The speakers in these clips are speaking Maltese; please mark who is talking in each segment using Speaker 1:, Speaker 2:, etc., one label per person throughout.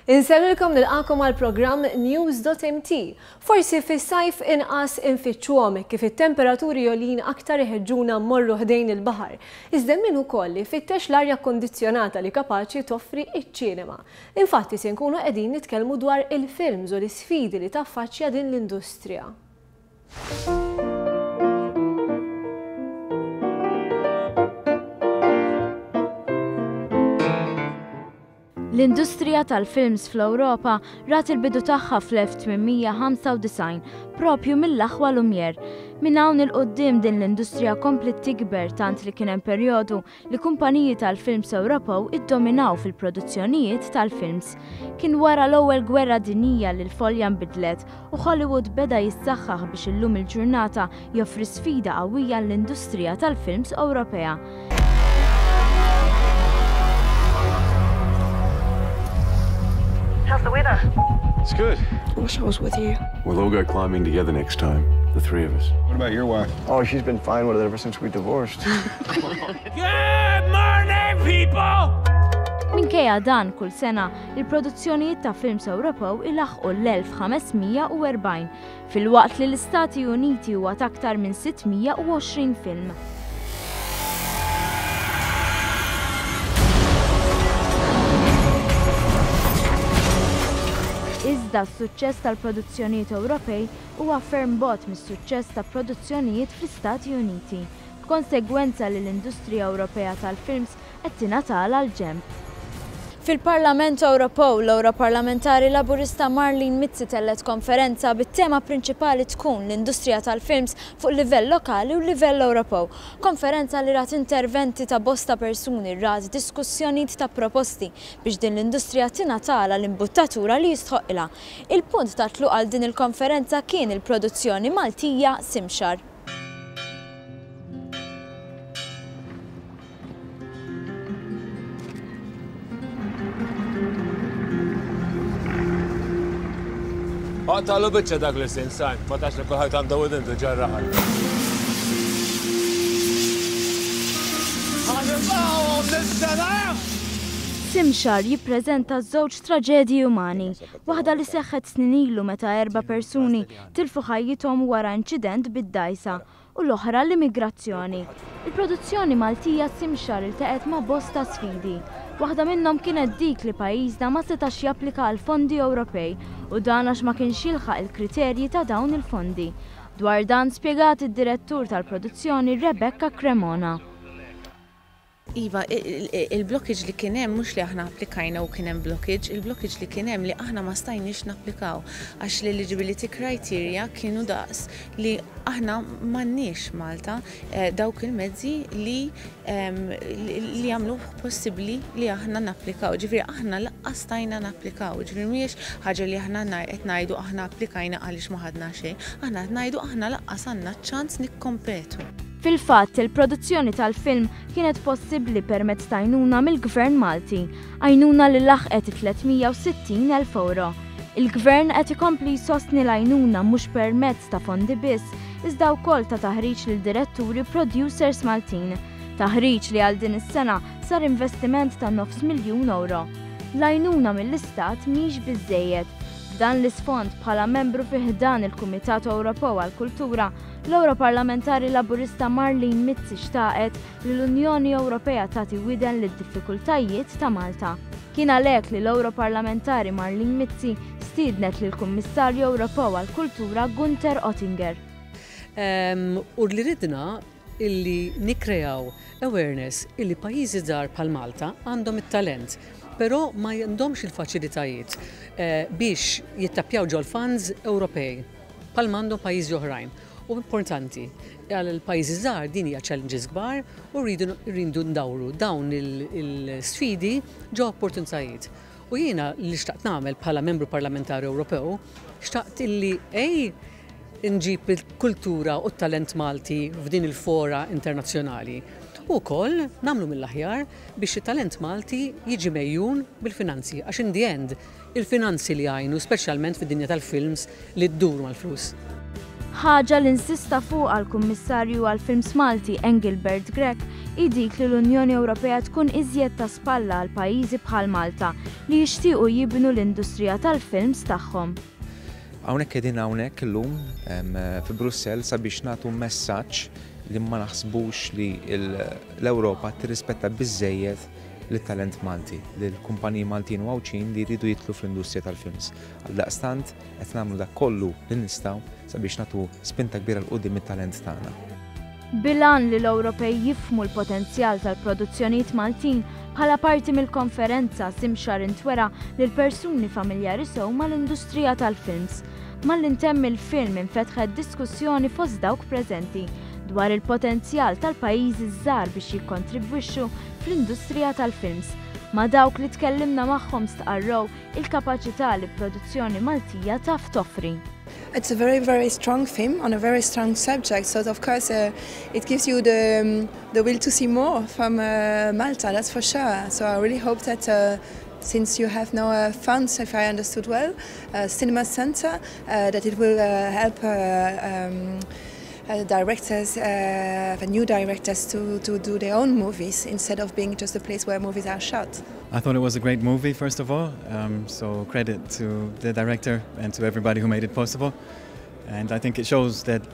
Speaker 1: Insellmilkom nilqakom għal programm News.mt. Forsi fis-sajf inqas infittxuhom kif it-temperaturi għoljin aktar iħeġġuna mmorru ħdejn il-baħar. Iżda min ukoll ifittex l-arja kkondizzjonata li kapaċi toffri iċ-ċinema. Infatti se nkunu qegħdin nitkellmu dwar il-films u l-isfidi li taffaċċja din l-industrija.
Speaker 2: L-industrija tal-films fl-Ewropa rat il-bidu tagħha fl-1895 propju mill-aħwa Lumière. Minn hawn 'il quddiem din l-industrija kompliet tikber tant li kien hemm perjodu li kumpaniji tal-films Ewropew iddominaw fil-produzzjonijiet tal-films. Kien wara l-Ewwel Gwerra Dinjija li l-folja nbidlet u Hollywood beda jissaħħaħ biex illum il-ġurnata joffri sfida qawwija l-industrija tal-films Ewropea.
Speaker 3: How's the weather?
Speaker 4: It's good.
Speaker 3: I wish I was with you.
Speaker 4: We'll all go climbing together next time, the three of us.
Speaker 5: What about your wife?
Speaker 4: Oh, she's been fine with it ever since we divorced.
Speaker 6: Good morning, people!
Speaker 2: Minkejja dan kull sena, il-produzzjonijiet ta' films Ewropew ilaħqu l-1540 filwaqt li l-Istati Uniti huwa ta' aktar minn 620 film. Iżda s-suċċess tal-produzzjonijiet Ewropej huwa ferm bogħod mis-suċċess ta' produzzjonijiet fl-Istati Uniti, b'konsegwenza li l-industrija Ewropea tal-films qed tingħatalha l-ġenb. Fil-Parlament Ewropew, l-Ewroparlamentari Laburista Marlene Mizzi tellgħet konferenza bit-tema prinċipali tkun l-industrija tal-films fuq livell lokali u livell Ewropew. Konferenza li rat interventi ta' bosta persuni, rat diskussjonijiet ta' proposti biex din l-industrija tingħatalha l-imbuttatura li jistħoqqilha. Il-punt ta' tluq għal din il-konferenza kien il-produzzjoni Maltija Simxar.
Speaker 6: Aqtagħlu biċċa dak li sin sajn, ma tax li kulħadd għandu widin diġà raħal.
Speaker 2: Simxar jippreżenta żewġ traġedji umani, waħda li seħħet snin ilu meta erba' persuni tilfu ħajjithom wara inċident bid-dgħajsa u l-oħra l-immigrazzjoni. Il-produzzjoni Maltija Simxar iltaqgħet ma' bosta sfidi. Waħda minnhom kienet dik li pajjiżna ma setax japplika għal fondi Ewropej u dan għax ma kienx jilħaq il-kriterji ta' dawn il-fondi. Dwar dan spjegat id-direttur tal-produzzjoni Rebecca Cremona.
Speaker 7: Iva, il-blockage li kien hemm mhux li aħna applikajna u kien hemm blockage, il-blockage li kien hemm li aħna ma stajniex napplikaw għax l-eligibility criteria kienu daqs li aħna m'għandniex Malta eh, dawk il-mezzi li li jagħmlu possibbli li aħna napplikaw. Ġifieri aħna laqqas stajna napplikaw, ġifieri mhijiex ħaġa li aħna qed ngħidu aħna applikajna għaliex ma ħadna xejn, aħna qed ngħidu aħna laqqas għandna ċans nikkompetu.
Speaker 2: Fil-fatt, il-produzzjoni tal-film kienet possibbli permezz ta' għajnuna mill-Gvern Malti, għajnuna li laħqet it-360 elf ewro. Il-Gvern qed ikompli jsostni l-għajnuna mhux permezz ta' fondi biss, iżda wkoll ta' taħriġ lil diretturi u producers Maltin. Taħriġ li għal din is-sena sar investiment ta' nofs miljun ewro. L-għajnuna mill-Istat mhix biżżejjed. F'dan l-isfond, bħala membru fi ħdan il-Kumitat Ewropew għall-Kultura, L-Ewroparlamentari Laburista Marlene Mizzi xtaqet li l-Unjoni Ewropea tagħti widen lid-diffikultajiet ta' Malta. Kien għalhekk li l-Ewroparlamentari Marlene Mizzi stiednet lill-Kummissarju Ewropew għall-Kultura Gunther Oettinger.
Speaker 8: U li ridna illi nikkreaw awareness illi pajjiżi żgħar bħal Malta għandhom it-talent, però ma għandhomx il-faċilitajiet biex jittappjaw ġol-funds Ewropej. Bħalma għandhom pajjiżi oħrajn. U importanti, għal pajjiżi żgħar din hija challenges kbar u rridu rridu ndawru dawn il-sfidi ġo opportunitajiet. U jiena li xtaqt nagħmel bħala membru parlamentari Ewropew, xtaqt illi ej nġib il-kultura u t-talent Malti f'din il-fora internazzjonali. U wkoll nagħmlu mill-aħjar biex it-talent Malti jiġi megħjun bil-finanzi għax in the end Il-finanzi li jgħinu speċjalment fid-dinja tal-films li ddur mal-flus.
Speaker 2: Ħaġa li insista fuqha l-Kummissarju għall-Films Malti Engelbert Grech hi dik li l-Unjoni Ewropea tkun iżjed ta' spalla għal pajjiżi bħal Malta li jixtiequ jibnu l-industrija tal-films tagħhom.
Speaker 5: Hawnhekk qegħdin hawnhekk illum fi Brussell sabiex nagħtu messaġġ li ma naħsbux li l-Ewropa tirrispetta biżżejjed lit-talent Malti, lill-kumpaniji Maltin u Għawdxin li jridu jidħlu fl-industrija tal-films. Għaldaqstant qed nagħmlu dak kollu li nistgħu sabiex nagħtu spinta kbira 'l quddiem it-talent tagħna.
Speaker 2: Bil-għan li l-Ewropej jifhmu l-potenzjal tal-produzzjonijiet Maltin, bħala parti mill-konferenza Simshar intwera lil persuni familjari sew mal-industrija tal-films. Malli ntemm il-film infetħet diskussjoni fost dawk preżenti dwar il-potenzjal tal-pajjiżi ż-żgħar biex jikkontribwixxu fl-industrija tal-films. Ma' dawk li tkellimna magħhom stqarrew il-kapaċità li produzzjoni Maltija taf toffri.
Speaker 9: It's a very, very strong film on a very strong subject, so of course it gives you the, the will to see more from Malta, that's for sure. So I really hope that since you have now funds, if I understood well, Cinema Center, that it will help directors, the new directors to do their own movies instead of being just a place where movies are shot.
Speaker 10: I thought it was a great movie, first of all, so credit to the director and to everybody who made it possible. And I think it shows that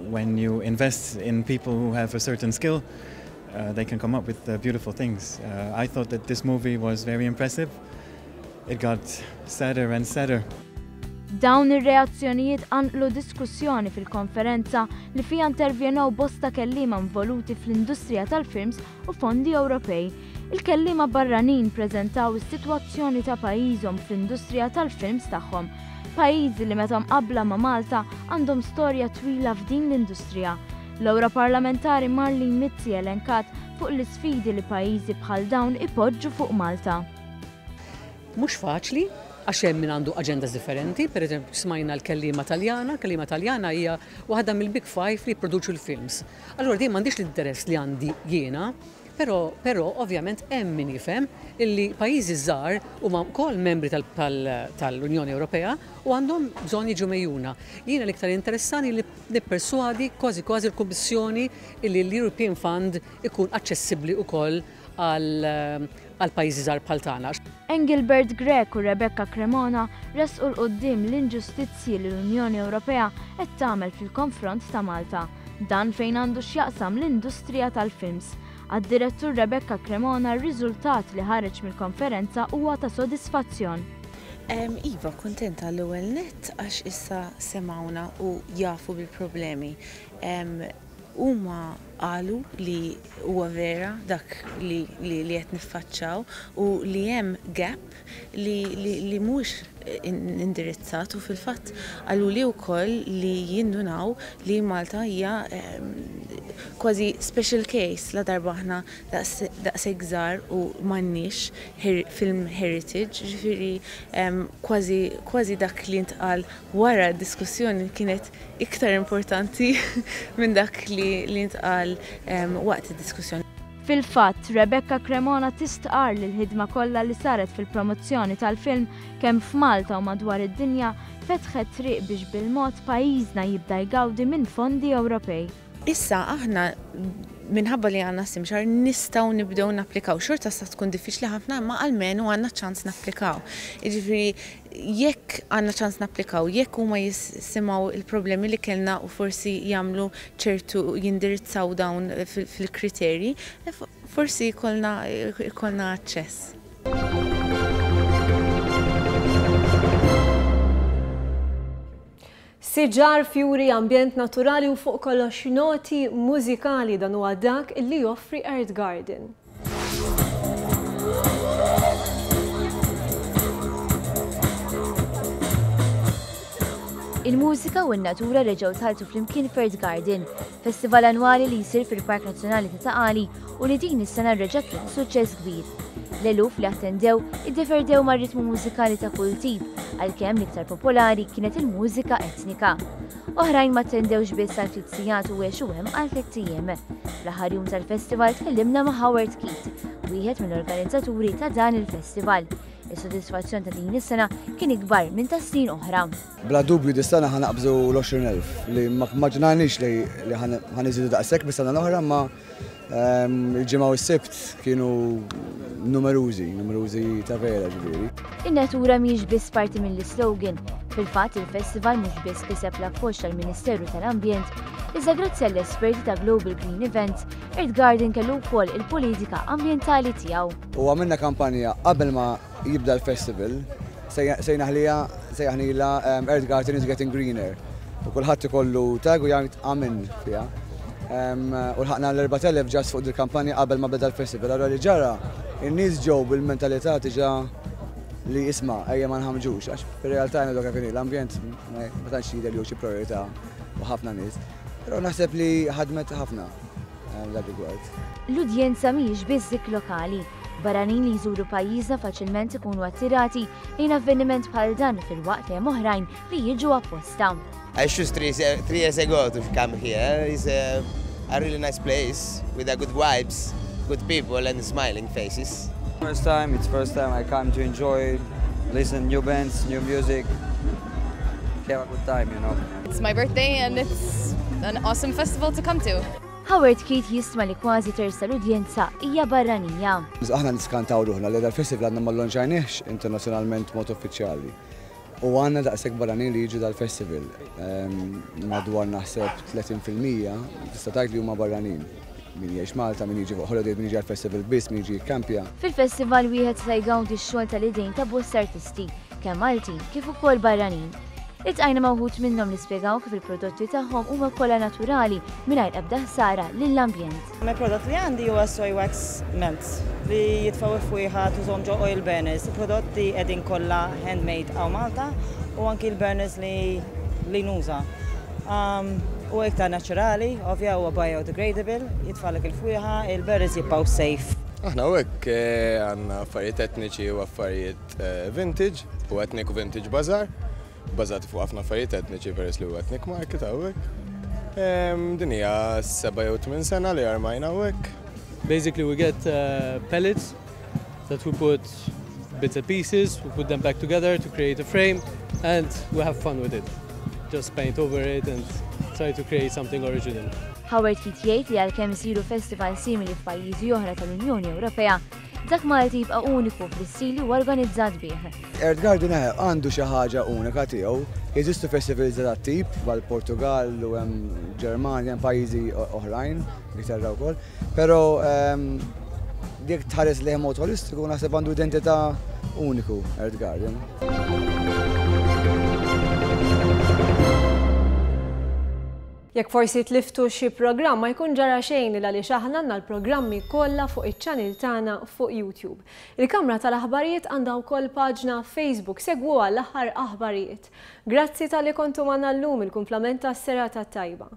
Speaker 10: when you invest in people who have a certain skill, they can come up with beautiful things. I thought that this movie was very impressive. It got sadder and sadder.
Speaker 2: Dawn ir-reazzjonijiet qanqlu diskussjoni fil-konferenza li fija intervjenew bosta kelliema involuti fl-industrija tal-films u fondi Ewropej. Il-kelliema barranin preżentaw is-sitwazzjoni ta' pajjiżhom fl-industrija tal-films tagħhom. Pajjiżi li meta mqabbla ma' Malta għandhom storja twila f'din l-industrija. L-Ewroparlamentari Marlene Mizzi elenkat fuq l-isfidi li pajjiżi bħal dawn ipoġġu fuq Malta.
Speaker 8: Mhux faċli, għax hemm min għandu agendas differenti, per eżempju smajna l-kellima Taljana, l-kellima Taljana hija waħda mill-Big Five li jipproduċu l-films. Allura din m'għandix l-interess li għandi jiena, però ovvjament hemm min jifhem illi pajjiżi żgħar huma wkoll membri tal-Unjoni Ewropea u għandhom bżonn jiġu megħjuna. Jiena l-iktar interessani li nipperswadi kważi kważi l-Kummissjoni illi l-European Fund ikun aċċessibbli wkoll għal pajjiżi żgħar bħal tagħna.
Speaker 2: Engelbert Grech u Rebecca Cremona resqu 'l quddiem l-inġustizzji li l-Unjoni Ewropea qed tagħmel fil-konfront ta' Malta. Dan fejn għandu x'jaqsam l-industrija tal-films. Għad-direttur Rebecca Cremona r-riżultat li ħareġ mill-konferenza huwa ta' sodisfazzjon.
Speaker 7: Iva, kuntenta l-ewwel nett għax issa semgħuna u jafu bil-problemi. Huma qalu li huwa vera dak li li qed niffaċċaw u li hemm gap li li li mhuwiex indirizzat u fil-fatt qaluli wkoll li jindunaw li Malta hija kważi special case la darba aħna daqshekk żgħar u m'għandniex film heritage, jiġifieri kważi kważi dak li ntqal wara d-diskussjoni kienet iktar importanti minn dak li li ntqal waqt id-diskussjoni.
Speaker 2: Fil-fatt, Rebecca Cremona tistqarr li l-ħidma kollha li saret fil-promozzjoni tal-film kemm f'Malta u madwar id-dinja fetħet triq biex bil-mod pajjiżna jibda jgawdi minn fondi Ewropej.
Speaker 7: Issa aħna minħabba li għandna Simshar nistgħu nibdew napplikaw. Xorta sa tkun diffiċli ħafna imma almenu għandna ċans napplikaw. Jiġifieri jekk għandna ċans napplikaw, jekk huma jisimgħu il-problemi li kellna u forsi jagħmlu ċertu jindirizzaw dawn fil-kriterji, forsi jkollna jkollna aċċess.
Speaker 1: Siġar, fjuri, ambjent naturali u fuq kollox noti mużikali, dan huwa dak li joffri Earth Garden.
Speaker 11: Il-mużika u n-natura reġgħu tħalltu flimkien f'Earth Garden, festival annwali li jsir fil-Park Nazzjonali ta' Ta' Qali u li din is-sena reġa' kien suċċess kbir. L-eluf li attendew iddeverdew mar-ritmu mużikali ta' kull tip, għalkemm l-iktar popolari kienet il-mużika etnika. Oħrajn ma attendewx biss għal ftit sigħat u għexu hemm għal tlett ijiem. Fl-aħħar jum tal-festival tkellimna ma' Howard Keith, wieħed mill-organizzaturi ta' dan il-festival. Is-sodisfazzjon ta' din is-sena kien ikbar minn ta' snin oħra.
Speaker 12: Bla dubju dis-sena ħa naqbżu l-20,000 li ma mmaġinajniex li ħa niżidu daqshekk mis-sena l-oħra imma il-Ġimgħa u s-Sibt kienu numerużi, numerużi ta' vera ġifieri.
Speaker 11: In-natura mhijiex biss parti mill-islogan. Fil-fatt il-festival mhux biss kiseb l-appoġġ tal-Ministeru tal-Ambjent, iżda grazzi għall-esperti ta' Global Green Events, Earth Garden kellu wkoll il-politika ambjentali tiegħu.
Speaker 12: U għamilna kampanja qabel ma jibda l-festival, sejnaħlija, sejjaħnilha Earth Garden is getting greener. U kulħadd ikollu tag u jgħid amen fiha. U lħaqna l-4,000 ġast fuq dil-kampanja qabel ma beda l-festival. Allura li ġara, in-nies ġew bil-mentalità diġà li isma' ejja ma nħammġux, għax fir-realtà ngħidu kif inhi, l-ambjent ma tantx jidher li hu xi priorità u ħafna nies. Però naħseb li ħadmet ħafna. dan rigward.
Speaker 11: L-udjenza mhijiex biss dik lokali. Barranin li jżuru pajjiżna faċilment ikunu attirati lejn avveniment bħal dan filwaqt li hemm oħrajn li jiġu apposta.
Speaker 13: I choose 3 years ago to come here. It's a really nice place with a good vibes, good people and smiling faces.
Speaker 14: First time, it's first time I come to enjoy, listen new bands, new music, have a good time.
Speaker 15: It's my birthday and it's an awesome festival to come to.
Speaker 11: Howard Keith jistma li kważi terz tal-udjenza hija barranija.
Speaker 12: Aħna niskantaw ruħna li dal-festival għadna ma llonċajniex internazzjonalment mod uffiċjali. U għandna daqshekk barranin li jiġu dal-festival. Madwar naħseb 30% tista' tgħid li huma barranin. Min jgħix Malta, min jiġi fuq holiday, min jiġi għal-festival biss, min jiġi jikkampja.
Speaker 11: Fil-festival wieħed se jgawdi x-xogħol tal-idejn ta' bosta artisti, kemm Maltin kif ukoll barranin. Iltqajna ma' wħud minnhom li spjegaw kif il-prodotti tagħhom huma kollha naturali mingħajr ebda ħsara lill-ambjent.
Speaker 16: Il-prodott li għandi huwa soy wax melts li jitfgħu fwieħa tużhom ġo oil burners. Il-prodotti qegħdin kollha handmade hawn Malta u anki l-burners li nuża. U iktar naturali, ovvja huwa biodegradable, jitfagħlek il-fwieħa, il-burners jibqgħu safe.
Speaker 17: Aħna hawnhekk għandna affarijiet etniċi u affarijiet vintage u ethnic u vintage bazaar, bażati fuq ħafna affarijiet etniċi peress li huwa ethnic market hawnhekk. Din hija 7 jew 8 sena li armajna hawnhekk.
Speaker 18: Basically, we get pellets that we put bits and pieces, we put them back together to create a frame, and we have fun with it. Just paint over it and try to create something original.
Speaker 11: Howard Keith jgħid li għalkemm isiru festival simili f'pajjiżi oħra tal-Unjoni Ewropea, dak Malti jibqa' uniku fl-istil li huwa organizzat bih.
Speaker 12: Earth Garden għandu xi ħaġa unika tiegħu. Jeżistu festivals ta' tip bħal Portugal u hemm Ġermanja, hemm pajjiżi oħrajn, Ingilterra wkoll. Però jekk tħares lejh mod holistiku naħseb għandu identità uniku Earth Garden.
Speaker 1: Jekk forsi tliftu xi programm, ma jkun ġara xejn għaliex aħna għandna l-programmi kollha fuq iċ-channel tagħna fuq YouTube. Il-Kamra tal-Aħbarijiet għandha wkoll paġna Facebook, segwu għall-aħħar aħbarijiet. Grazzi talli kontu magħna llum, il-kumplament tas-serata tajba.